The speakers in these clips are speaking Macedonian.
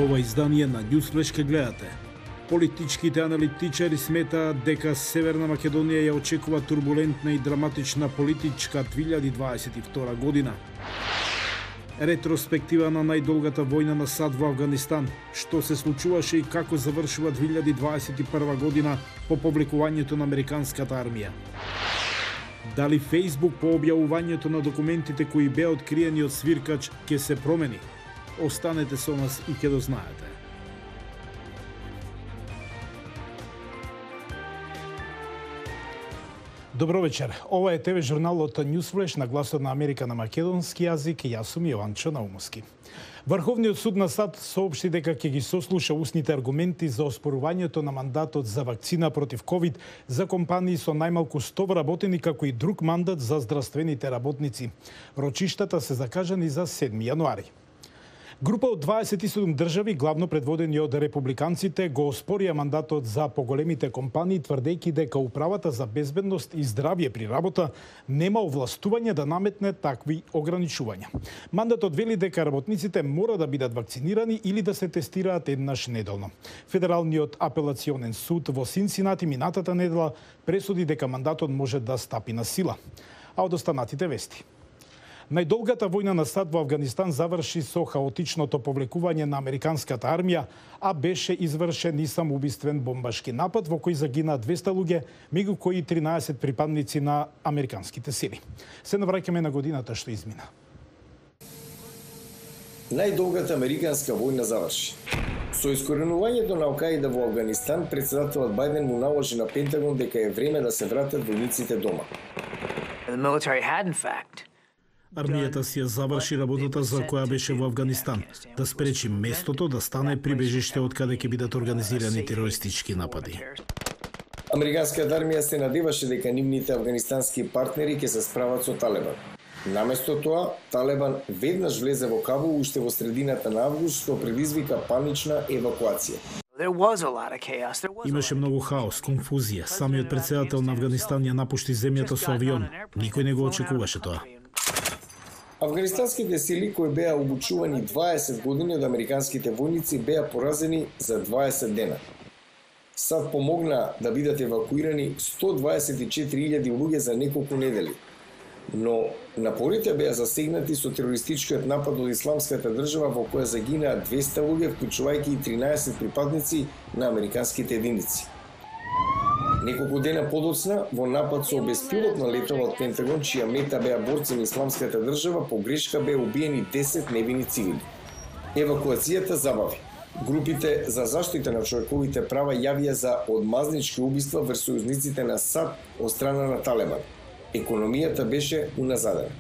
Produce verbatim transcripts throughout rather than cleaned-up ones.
Ова издание на Newsflash ке гледате. Политичките аналитичари сметаат дека Северна Македонија ја очекува турбулентна и драматична политичка две илјади дваесет и втора година. Ретроспектива на најдолгата војна на САД во Авганистан, што се случуваше и како завршува две илјади дваесет и прва година по повлекувањето на американската армија. Дали Facebook по објавувањето на документите кои беа откриени од свиркач ќе се промени? Останете со нас и ќе дознаете. Добро вечер. Ова е ТВ журналот Newsflash на гласот на Америка на македонски јазик. Јас сум Јованчо Наумовски. Врховниот суд на САД соопшти дека ќе ги сослуша усните аргументи за оспорувањето на мандатот за вакцина против ковид за компании со најмалку сто вработени, како и друг мандат за здравствените работници. Рочиштата се закажани за седми јануари. Група од дваесет и седум држави, главно предводени од републиканците, го оспорија мандатот за поголемите компании, тврдејќи дека управата за безбедност и здравје при работа нема овластување да наметне такви ограничувања. Мандатот вели дека работниците мора да бидат вакцинирани или да се тестираат еднаш неделно. Федералниот апелационен суд во Синсинати минатата недела пресуди дека мандатот може да стапи на сила. А од останатите вести. Најдолгата војна на САД во Авганистан заврши со хаотичното повлекување на американската армија, а беше извршен и самоубиствен бомбашки напад во кој загина двеста луѓе, меѓу кои тринаесет припадници на американските сили. Се навраќаме на годината што измина. Најдолгата американска војна заврши. Со искоренувањето на Ал-Каида во Авганистан, председателот Бајден му наложи на Пентагон дека е време да се вратат војниците дома. Армијата си ја заврши работата за која беше во Авганистан, да спречи местото да стане прибежиште од каде ќе бидат организирани терористички напади. Американската армија се надеваше дека нивните афганистански партнери ќе се справат со Талебан. Наместо тоа, Талебан веднаш влезе во Кабул уште во средината на август, што предизвика панична евакуација. Имаше многу хаос, конфузија. Самиот председател на Авганистан ја напушти земјата со авион. Никој не го очекуваше тоа. Афганистанските сили, кои беа обучувани дваесет години од американските војници, беа поразени за дваесет дена. САД помогна да бидат евакуирани сто дваесет и четири илјади луѓе за неколку недели. Но напорите беа засегнати со терористичкиот напад од Исламската држава во која загинаа двеста луѓе, вклучувајќи и тринаесет припадници на американските единици. Неколку дена подоцна, во напад со беспилотна летова од Пентагон, чија мета беа борци на Исламската држава, по грешка беа убиени десет невини цивили. Евакуацијата забави. Групите за заштита на човековите права јавија за одмазнички убиства врз сојузниците на САД од страна на Талебан. Економијата беше уназадена.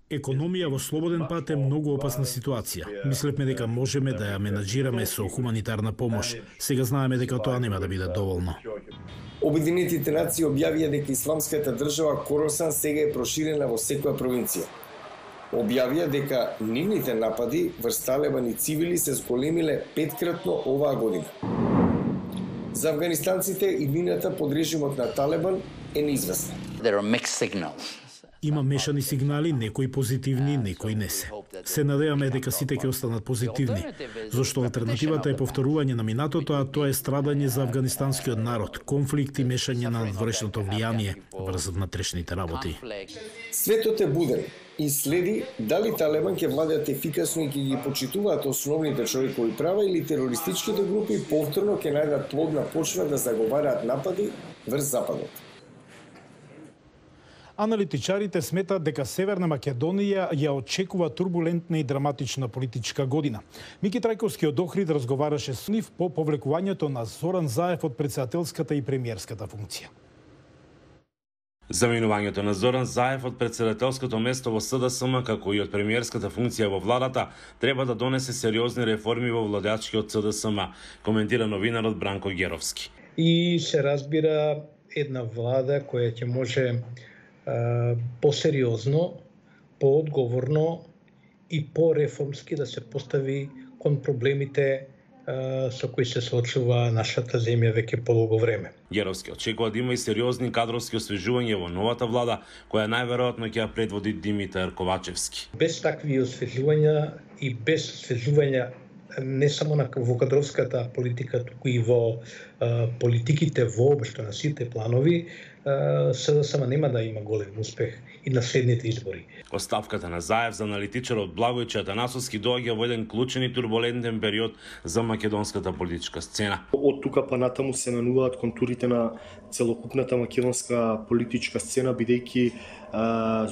Економија во слободен пат е многу опасна ситуација. Мислевме дека можеме да ја менаџираме со хуманитарна помош. Сега знаеме дека тоа нема да биде доволно. Обединетите нации објавија дека Исламската држава Коросан сега е проширена во секоја провинција. Објавија дека нивните напади врз Талебан и цивили се зголемиле петкратно оваа година. За афганистанците иднината под режимот на Талебан е неизвестна. Има мешани сигнали, некои позитивни, некои не се. Се надеваме дека сите ќе останат позитивни, зашто алтернативата е повторување на минатото, а тоа е страдање за афганистанскиот народ, конфликт и мешање на надворешното влијание врз внатрешните работи. Светот е буден и следи дали Талебан ќе владеат ефикасно и ќе ги почитуваат основните човекови права или терористичките групи повторно ќе најдат плодна почва да заговараат напади врз Западот. Аналитичарите сметаат дека Северна Македонија ја очекува турбулентна и драматична политичка година. Мики Трајковски од Охрид разговараше со нив по повлекувањето на Зоран Заев од председателската и премиерската функција. Заминувањето на Зоран Заев од председателското место во СДСМ, како и од премиерската функција во владата, треба да донесе сериозни реформи во владачкиот СДСМ, коментира новинарот Бранко Геровски. И се разбира една влада која ќе може посериозно, поодговорно и пореформски да се постави кон проблемите со кои се соочува нашата земја веќе подолго време. Геровски очекува да има и сериозни кадровски освежувања во новата влада, која најверојатно ќе ја предводи Димитар Ковачевски. Без такви освежувања и без свежување не само на во кадровската политика, туку и во а, политиките воопшто на сите планови, СДСМ нема да има голем успех и на следните избори. Оставката на Заев за аналитичарот Благојче Атанасовски доаѓа во еден клучен и турбулентен период за македонската политичка сцена. Од тука па натаму се менуваат контурите на целокупната македонска политичка сцена, бидејќи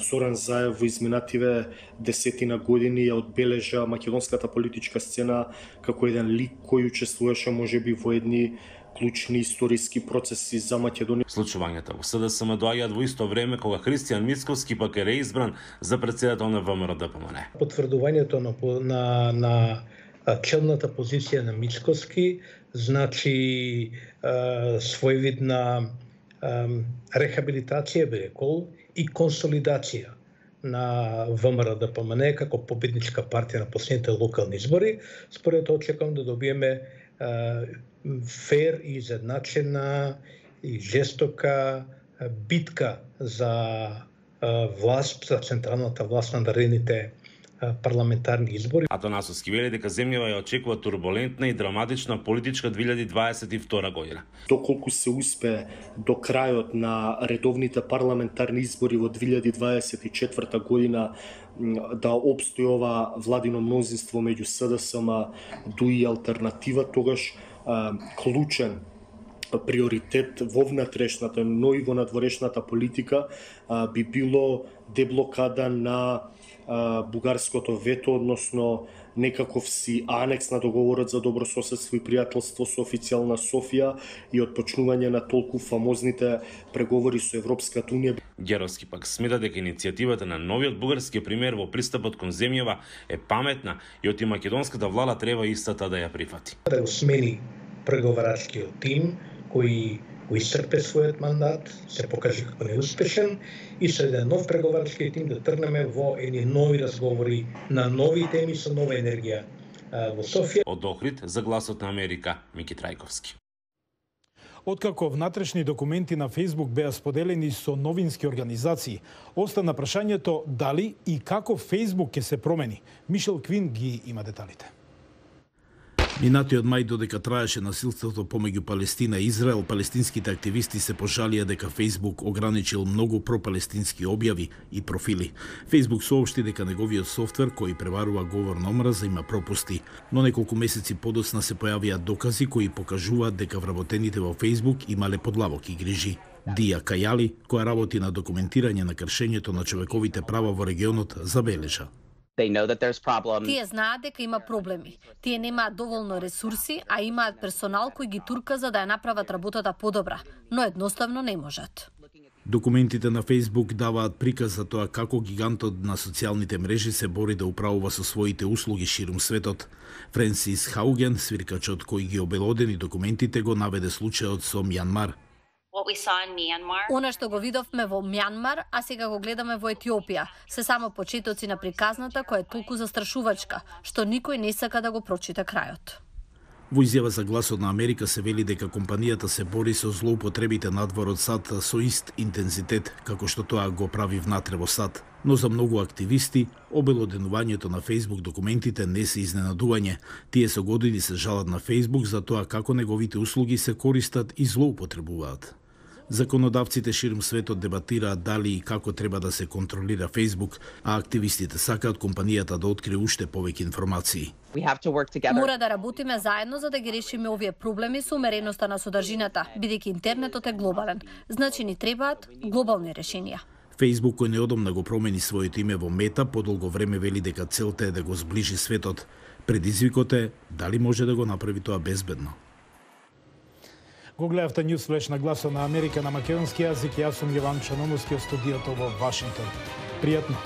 Зоран Заев во изминативе десетина години ја одбележа македонската политичка сцена како еден лик кој учествуваше можеби во едни клучни историски процеси за Македонија. Случувањата во СДСМ доаѓаат во исто време кога Христијан Мицковски пак е реизбран за председател на ВМРО Д П М Н. Потврдувањето на на, на челната позиција на Мицковски значи а, своевидна а, рехабилитација, би рекол, и консолидација на ВМРО Д П М Н како победничка партија на последните локални избори. Според тоа очекувам да добиеме а, фер и изедначена и жестока битка за власт, за централната власт на наредните парламентарни избори. Атанасовски вели дека земјава ја очекува турбулентна и драматична политичка две илјади дваесет и втора година. Доколку се успе до крајот на редовните парламентарни избори во две илјади дваесет и четврта година да обстои ова владино мнозинство меѓу СДСМ, ДУ и алтернатива, тогаш клучен приоритет во внатрешната, но и во надворешната политика би било деблокада на бугарското вето, односно некаков си анекс на договорот за добрососедство и пријателство со официјална Софија и отпочнување на толку фамозните преговори со Европската унија. Геровски пак смета дека иницијативата на новиот бугарски премиер во пристапот кон земјава е паметна и оти македонската влада треба истата да ја прифати. Да го смени преговарачкиот тим кој го исцрпе својот мандат, се покажи како неуспешен и со еден нов преговарачки тим да тргнеме во едни нови разговори на нови теми со нова енергија во Софија. Од Охрид за Гласот на Америка, Мики Трајковски. Откако внатрешни документи на Facebook беа споделени со новински организации, остана прашањето дали и како Facebook ќе се промени. Мишел Квин ги има деталите. Минатиот мај, додека траеше насилството помеѓу Палестина и Израел, палестинските активисти се пожалија дека Facebook ограничил многу пропалестински објави и профили. Facebook соопшти дека неговиот софтвер кој преварува говор на омраза има пропусти, но неколку месеци подоцна се појавија докази кои покажуваат дека вработените во Facebook имале подлабоки грижи. Дија Кајали, која работи на документирање на кршењето на човековите права во регионот, забележа. Тие знаат дека има проблеми. Тие немаат доволно ресурси, а имаат персонал кој ги турка за да ја направат работата подобра, но едноставно не можат. Документите на Facebook даваат приказ за тоа како гигантот на социјалните мрежи се бори да управува со своите услуги ширум светот. Френсис Хауген, свиркачот кој ги обелодени документите, го наведе случајот со Мјанмар. Она што го видовме во Мјанмар, а сега го гледаме во Етиопија, се само почетоци на приказната која е толку застрашувачка, што никој не сака да го прочита крајот. Во изјава за Гласот на Америка се вели дека компанијата се бори со злоупотребите надвор од САД со ист интензитет како што тоа го прави внатре во САД. Но за многу активисти, обелоденувањето на Facebook документите не се изненадување. Тие со години се жалат на Facebook за тоа како неговите услуги се користат и злоупотребуваат. Законодавците ширум светот дебатираат дали и како треба да се контролира Facebook, а активистите сакаат компанијата да открие уште повеќе информации. Мора да работиме заедно за да ги решиме овие проблеми со умереноста на содржината, бидејќи интернетот е глобален. Значи ни требаат глобални решенија. Facebook, кој неодамна го промени своето име во Мета, подолго време вели дека целта е да го зближи светот. Предизвикот е дали може да го направи тоа безбедно. Го гледавте News Flash на Гласот на Америка на македонски јазик. Јас сум Јован Чономовски од студиото во Вашингтон. Пријатно!